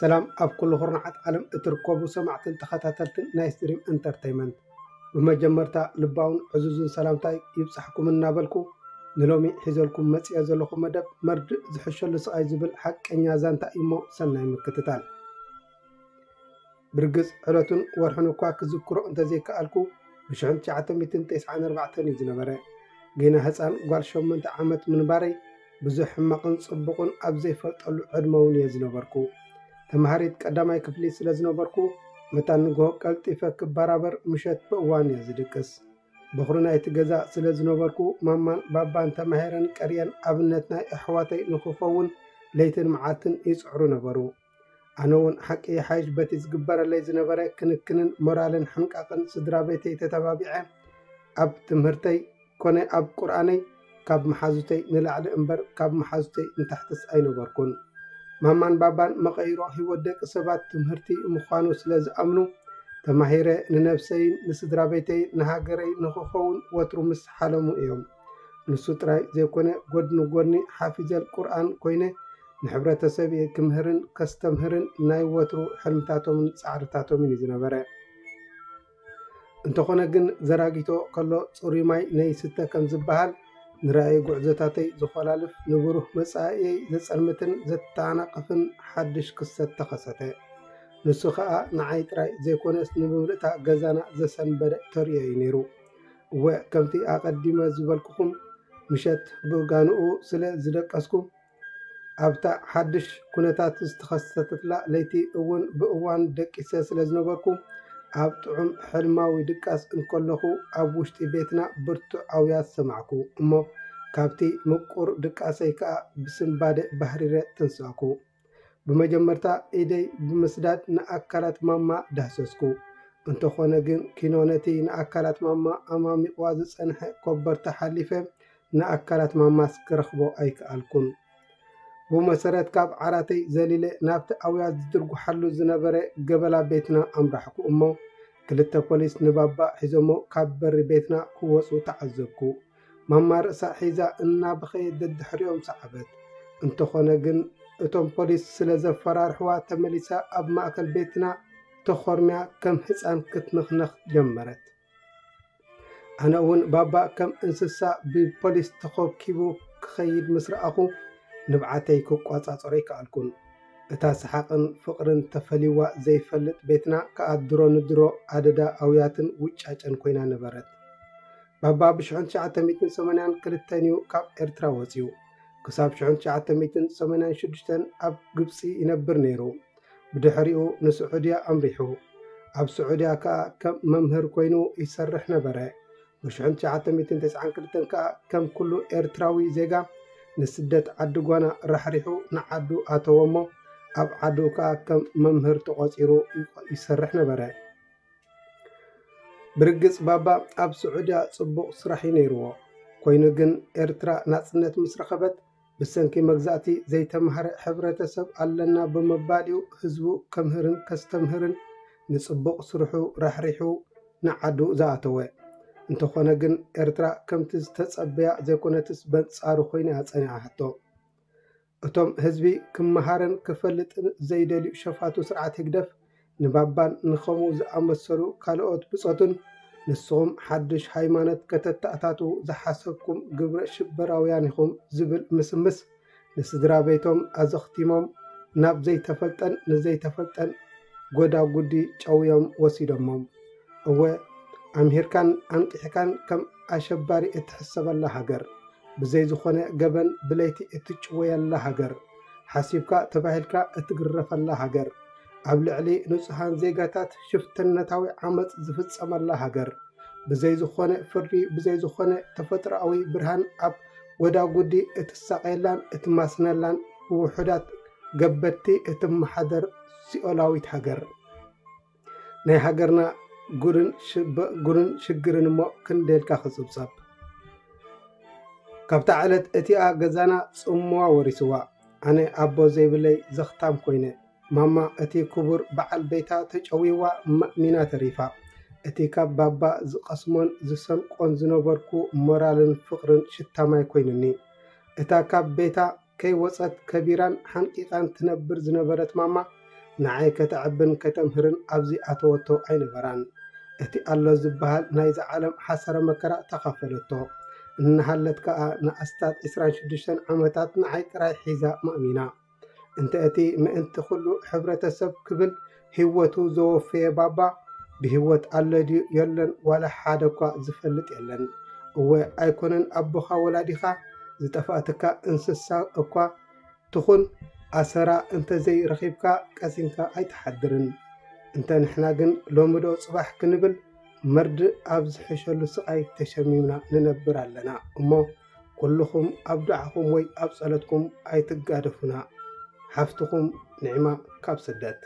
ሰላም ኣብ ኩሉ ኩርናዓት ዓለም እትርከቡ ሰማዕትን ተኸታተልትን ናይ ስትሪም ኢንተርተይመንት፣ ብመጀመርታ ልባውን ዕዙዝን ሰላምታይ ይብጻሕኩም እናበልኩ፣ ንሎሚ ሒዘልኩም መጺኤ ዘለኹ መደብ መርድእ ዝሕሸሉ ስቓይ ዝብል ሓቀኛ ዛንታ እዩሞ ሰናይ ምክትታል። ብርግጽ ዕለቱን ወርሑን እኳ ክዝክሮ እንተዘይከኣልኩ፣ ብሽሕን ትሽዓተ ሚእትን ተስዓን ኣርባዕተን እዩ ዝነበረ። ገና ህጻን ጓል ሸሞንተ ዓመት ምንባረይ ብዙሕ ሕማቕን ጽቡቕን ኣብ ዘይፈልጠሉ ዕድመ እውን እየ ዝነበርኩ። ተማሃሪት ቀዳማይ ክፍሊ ስለ ዝነበርኩ፣ መታን ንግሆ ቀልጢፈ ክበራበር ምሸት ብእዋን እየ ዝድቅስ። በኹሪ ናይቲ ገዛ ስለ ዝነበርኩ፣ ማማን ባባን ተማሂረን ቀርየን ኣብነት ናይ ኣሕዋተይ ንኽኸውን ለይትን መዓልትን ይጽዕሩ ነበሩ። ኣነ እውን ሓቂ ይሓይሽ በቲ ዝግበረለይ ዝነበረ ክንክንን ሞራልን ሕንቃቕን ስድራ ቤተይ ተተባቢዐ ኣብ ትምህርተይ ኮነ ኣብ ቁርኣነይ ካብ መሓዙተይ ንላዕሊ እምበር ካብ መሓዙተይ ንታሕትስ ኣይነበርኩን። ማማን ባባን መቐይሮ ህይወት ደቂ ሰባት ትምህርቲ ምዃኑ ስለ ዝኣምኑ፣ ተማሂረ ንነብሰይን ንስድራ ቤተይን ንሃገረይ ንኽኸውን ወትሩ ምስ ሓለሙ እዮም። ንሱ ጥራይ ዘይኮነ፣ ጎድኒ ጎድኒ ሓፊዘል ቁርኣን ኮይነ ንሕብረተሰብ እየ ክምህርን ከስተምህርን ናይ ወትሩ ሕልምታቶምን ጻዕርታቶምን እዩ ዝነበረ። እንተኾነ ግን፣ ዘራጊቶ ከሎ ጽሩይ ማይ ነይስተ ከም ዝበሃል፣ ንራእይ ጉዕዞታተይ ዝኾላልፍ፣ ንብሩህ መጻኢየይ ዘጸልምትን ዘተናቕፍን ሓድሽ ክስተት ተኸሰተ። ንሱ ኸኣ ንዓይ ጥራይ ዘይኮነስ፣ ንምምልእታ ገዛና ዘሰንበደ ተርእዮ እዩ ነይሩ። እወ፣ ከምቲ ኣቐዲመ ዝበልኩኹም፣ ምሸት ብጋንኡ ስለ ዝደቀስኩ፣ ኣብታ ሓድሽ ኩነታት ዝተኸሰተትላ ለይቲ እውን ብእዋን ደቂሰ ስለ ዝነበርኩ፣ ኣብ ጥዑም ሕልማዊ ድቃስ እንከለኹ፣ ኣብ ውሽጢ ቤትና ብርቱዕ ኣውያት ሰማዕኩ። እሞ ካብቲ ምቁር ድቃሰይ ከኣ ብስንባደ ባህሪረ ተንሳእኩ። ብመጀመርታ ኢደይ ብምስዳድ ንኣካላት ማማ ዳህሰስኩ። እንተኾነ ግን፣ ኪኖ ነቲ ንኣካላት ማማ ኣማሚቕዋ ዝጸንሐ ኮበርታ ሓሊፈ ንኣካላት ማማስ ክረኽቦ ኣይከኣልኩን። ብመሰረት ካብ ዓራተይ ዘሊለ ናብቲ ኣውያት ዝድርጉሓሉ ዝነበረ ገበላ ቤትና ኣምራሕኩ እሞ፣ ክልተ ፖሊስ ንባባ ሒዞሞ ካብ በሪ ቤትና ክወጹ ተዓዘብኩ። ማማ ርእሳ ሒዛ እናበኸየት ደድሕሪኦም ሰዓበት። እንተኾነ ግን፣ እቶም ፖሊስ ስለ ዘፈራርሕዋ፣ ተመሊሳ ኣብ ማእከል ቤትና ተኾርምያ ከም ህጻን ክትነኽነኽ ጀመረት። ኣነ እውን ባባ ከም እንስሳ ብፖሊስ ተኾብኪቡ ክኸይድ ምስ ረኣኹ፣ ንብዓተይ ክቋጻጸሮ ኣይከኣልኩን። እታ ሰሓቕን ፍቕርን ተፈሊዋ ዘይፈልጥ ቤትና ከኣ ድሮ ንድሮ ኣደዳ ኣውያትን ውጫጨን ኮይና ነበረት። ባባ ብሽሕን ትሽዓተ ሚእትን ሰማንያን ክልተን እዩ ካብ ኤርትራ ወጺኡ። ክሳብ ሽሕን ትሽዓተ ሚእትን ሰማንያን ሽዱሽተን ኣብ ግብጺ ይነብር ነይሩ። ብድሕሪኡ ንስዑድያ ኣምሪሑ። ኣብ ስዑድያ ከኣ ከም መምህር ኮይኑ ይሰርሕ ነበረ። ብሽሕን ትሽዓተ ሚእትን ተስዓን ክልተን ከኣ ከም ኩሉ ኤርትራዊ ዜጋ ንስደት ዓዲ ጓና ራሕሪሑ ንዓዱ ኣተወ እሞ፣ ኣብ ዓዱ ከኣ ከም መምህር ተቖጺሩ ይቆ-፣ ይሰርሕ ነበረ። ብርግጽ ባባ ኣብ ስዑድያ ጽቡቕ ስራሕ እዩ ነይርዎ። ኮይኑ ግን ኤርትራ ናጽነት ምስ ረኸበት፣ ብሰንኪ መግዛእቲ ዘይተማህረ ሕብረተሰብ ኣለና ብምባል እዩ ህዝቡ ከምህርን ከስተምህርን ንጽቡቕ ስርሑ ራሕሪሑ ንዓዱ ዝኣተወ። እንተኾነ ግን ኤርትራ ከምቲ ዝተጸበያ ዘይኮነትስ በንጻሩ ኮይና ጸኒሓቶ። እቶም ህዝቢ ክመሃርን ክፈልጥን ዘይደልዩ ሸፋቱ ስርዓት ህግደፍ ንባባን ንኸምኡ ዝኣመሰሉ ካልኦት ብጾቱን ንስኹም ሓድሽ ሃይማኖት ከተተኣታትዉ ዝሓሰብኩም ግብረ ሽበራውያን ኢኹም ዝብል ምስምስ ንስድራ ቤቶም ኣዘኽቲሞም ናብ ዘይተፈልጠን ንዘይተፈልጠን ጎዳጉዲ ጨውዮም ወሲዶሞም። እወ፣ ኣምሂርካን ኣንቂሕካን ከም ኣሸባሪ እትሕሰበላ ሃገር፣ ብዘይ ዝኾነ ገበን ብለይቲ እትጭወየላ ሃገር፣ ሓሲብካ ተባሂልካ እትግረፈላ ሃገር፣ ኣብ ልዕሊ ንጹሃን ዜጋታት ሽፍትነታዊ ዓመጽ ዝፍጸመላ ሃገር፣ ብዘይ ዝኾነ ፍርዲ፣ ብዘይ ዝኾነ ተፈጥሮኣዊ ብርሃን ኣብ ጎዳጉዲ እትሳቐየላን እትማስነላን ብውሑዳት ገበትቲ እትመሓደር ሲኦላዊት ሃገር። ናይ ሃገርና ጉድን ሽበ-፣ ጉድን ሽግርን እሞ ክንደልካ ክጽብጸብ። ካብታ ዕለት እቲኣ ገዛና ጽምዋ ወሪስዋ። ኣነ ኣቦ ዘይብለይ ዘኽታም ኮይነ። ማማ እቲ ክቡር በዓል ቤታ ተጨውይዋ ማእሚና ተሪፋ። እቲ ካብ ባባ ዝቐስሞን ዝሰንቆን ዝነበርኩ ሞራልን ፍቕርን ሽታ ማይ ኮይኑኒ። እታ ካብ ቤታ ከይወጸት ከቢራን ሓንቂቓን ትነብር ዝነበረት ማማ፣ ንዓይ ከተዕብን ከተምህርን ኣብዚ ኣተወቶ ኣይነበራን። እቲ ኣሎ ዝበሃል ናይዛ ዓለም ሓሰረ መከራ ተኻፈለቶ። እናሃለት ከኣ ንኣስታት ዕስራን ሽዱሽተን ዓመታት ንዓይ ጥራይ ሒዛ ማእሚና። እንተ እቲ ምእንቲ ኩሉ ሕብረተሰብ ክብል ህይወቱ ዘወፈየ ባባ ብህይወት ኣሎ ድዩ የለን ዋላ ሓደ እኳ ዝፈልጥ የለን። እወ ኣይኮነን ኣቦኻ ወላዲኻ ዝጠፋእትካ እንስሳ እኳ ትኹን ኣሰራ እንተ ዘይረኺብካ ቀሲንካ ኣይትሓድርን። እንተ ንሕና ግን ሎሚ ዶ ጽባሕ ክንብል መርድእ ኣብ ዝሕሸሉ ስቓይ ተሸሚምና ንነብር ኣለና እሞ ኩልኹም ኣብ ዱዓኹም ወይ ኣብ ጸሎትኩም ኣይትጋደፉና። ሓፍትኹም ንዕማ ካብ ስደት።